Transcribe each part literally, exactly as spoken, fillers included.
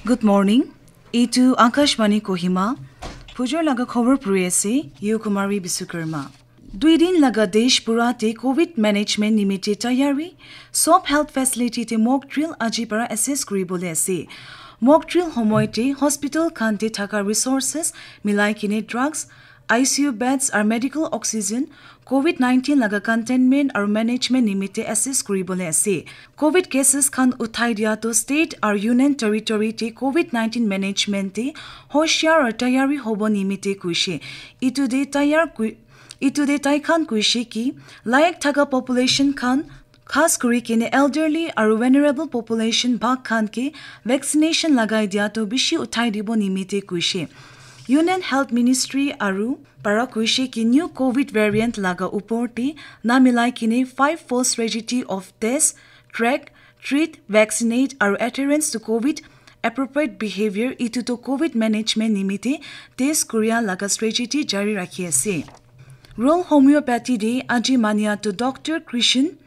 Good morning. Itu Akashvani Kohima. Phujor laga khobor puri ase, Yu Kumari Bisukarma. Dui din laga desh pura te covid management nimite tayari, sob health facility te mock drill aji para assess kuribole ase. Mock drill homoy te hospital khan te thaka resources milai kine drugs, I C U beds aru medical oxygen, covid nineteen laga containment aru management nimite assess kuribole ase. Covid cases khan uthai dia to state aru union territory te covid nineteen management te hoshiar aru tayari hobo nimite kuishe. Itu de tayar kui-, itu de tai khan kuishe ki layak thaka population khan, khas kuri kene elderly aru vulnerable population bhag khan ke vaccination lagai dia to bishi uthai dibo nimite kuishe. Union Health Ministry aru para kuishe ki new covid variant laga upor te na milai kine five fold strategy of test, track, treat, vaccinate aru adherence to covid appropriate behavior itu to covid management nimite test kuria laga strategy jari rakhi ase. Rural homeopathy de aji mania to Doctor Krishan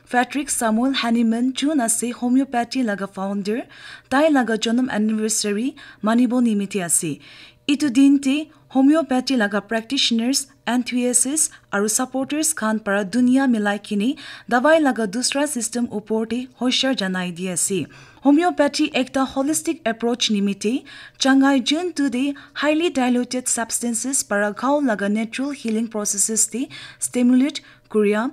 Patrick Samuel Hahnemann, jun ase homeopathy laga founder, tai laga janam anniversary manibo nimite ase. Itu din te homeopathy laga practitioners, enthusiasts aru supporters khan para dunia milai kine dawai laga dusra system upor te hoshiar janai di ase. Homeopathy ekta holistic approach nimite changai jun tu de highly diluted substances para ghao laga natural healing processes te stimulate kuria.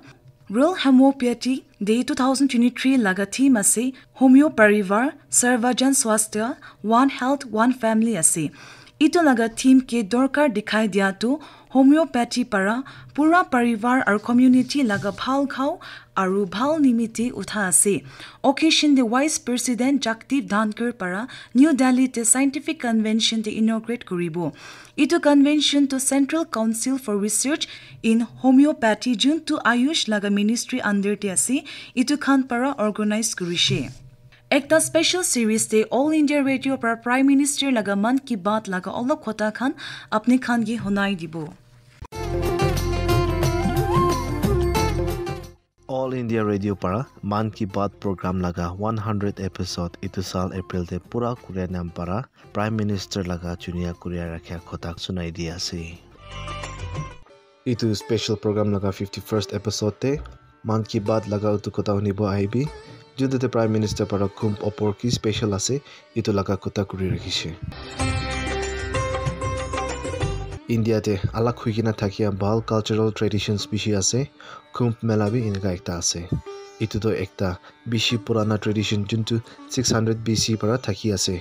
Rural Homeopathy Day two thousand twenty-three laga theme ase Homeo Parivar Sarvajan Swasthya, One Health, One Family ase. Itu laga theme ke dorkar dikhai dia tu homeopathy para pura parivar aru community laga bhal ghao aru bhal nimite utha ase. Occasion de Vice President Jagdeep Dhankhar para New Delhi te scientific convention te inaugurate kuribo. Itu convention to Central Council for Research in Homeopathy, jun tu Ayush laga ministry under te ase, itu khan para organize kurishe. Ekta special series te All India Radio para Prime Minister laga Mann Ki Baat laga olop khota khan apni khan ke hunai dibo. All India Radio para Mann Ki Baat program laga one hundred episode itu sal April te pura kuria nam para Prime Minister laga chunia kuria rakhia khota sunai di ase. Itu special program laga fifty-first episode te Mann Ki Baat laga utu kota hunibo ahibi. Juntu te Prime Minister para Kumbh opor ki special ase, itu laga kota kuri rakhishe. India te alak hui kena thakia bhal cultural traditions bishi ase. Kumbh Mela bi eneka ekta ase. Itu toh ekta bishi purana tradition juntu six hundred B C para thaki ase.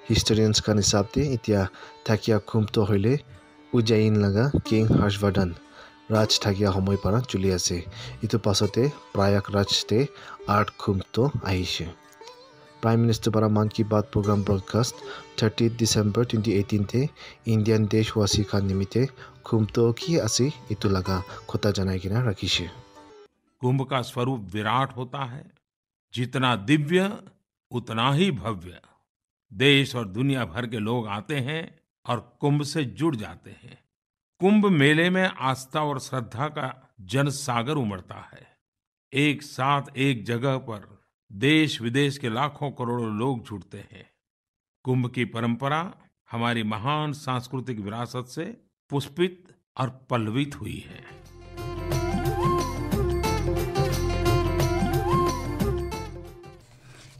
Historians khan hisab te itia thakia Kumbh toh hoile Ujjain laga King Harshvardhan Raj thakia homoi para chuli ase. Itu pasate Prayagraj te Art Kumbh toh ahishe. Prime Minister para Mann Ki Baat program broadcast thirtieth December twenty eighteen te Indian deshwasi khan nimite Kumbh toh ki ase itu laga khota janai kena rakhishe. कुंभ का स्वरूप विराट होता है, जितना दिव्य उतना ही भव्य। देश और दुनिया भर के लोग आते हैं और कुंभ से जुड़ जाते हैं। कुंभ मेले में आस्था और श्रद्धा का जन सागर उमड़ता है। एक साथ एक जगह पर देश विदेश के लाखों करोड़ों लोग जुड़ते हैं। कुंभ की परंपरा हमारी महान सांस्कृतिक विरासत से पुष्पित और पल्लवित हुई है।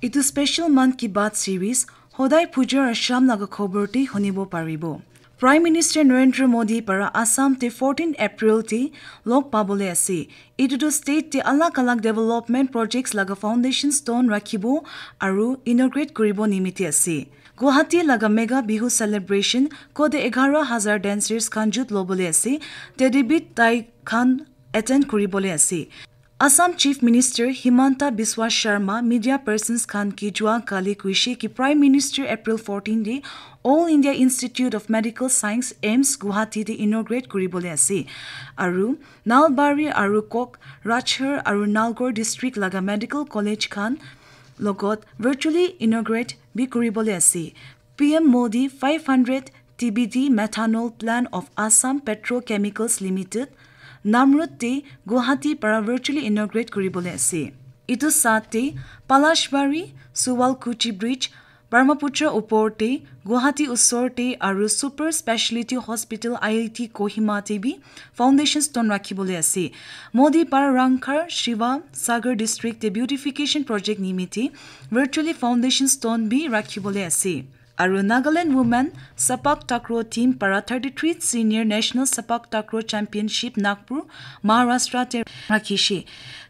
Itu special Mann Ki Baat series hodai pujar aru sham laga khobor te hunibo paribo. Prime Minister Narendra Modi para Assam te fourteen April te log pabole ase. Itu tu state te alag alag development projects laga foundation stone rakhibo aru inaugurate kuribo nimite ase. Guwahati laga Mega Bihu celebration kode eghara hazar dancers khan jut lobole ase. Tedibit tai khan attend kuribole ase. Assam Chief Minister Himanta Biswa Sharma media persons khan ke jua kali kuishe ki Prime Minister April fourteen de All India Institute of Medical Science, AIIMS, Guwahati de inaugurate kuribole ase. Aru Nalbari aru Kokrajhar aru Nalgaon district laga medical college khan logot virtually inaugurate bi kuribole ase. P M Modi five hundred T B D methanol plant of Assam Petrochemicals Limited, Namrup te Guwahati para virtually inaugurate kuribole ase. Itu sate Palashbari Suwalkuchi Bridge Brahmaputra upor te, Guwahati usor te aru Super Speciality Hospital I I T Kohima te bi foundation stone rakhibole ase. Modi para Rangkhar Shiva Sagar District te beautification project nimite virtually foundation stone bi rakhibole ase. Aru Nagaland Women Sepak Takraw Team para thirty-three Senior National Sepak Takraw Championship Nagpur, Maharashtra te rakhishe.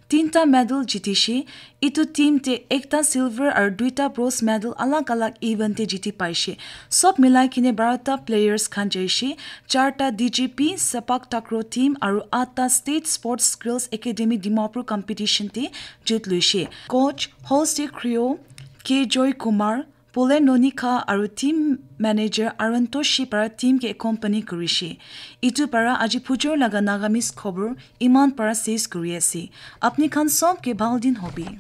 Tinta medal jitishe. Itu team te ekta silver aru duita bronze medal alag alag event te jiti paishe. Sob milai kine barota players khan jaishe. Charta D G P Sepak Takraw Team aru atta State Sports Girls Academy Dimapur competition te jut luishe. Coach Holste Krio, K Joy Kumar, Pole Nonikha aru team manager Arantoshi para team ke accompany kurishe. Itu para aji phujor laga Nagamese khobor iman para ses kuri ase. Apni khan sob ke bhal din hobi.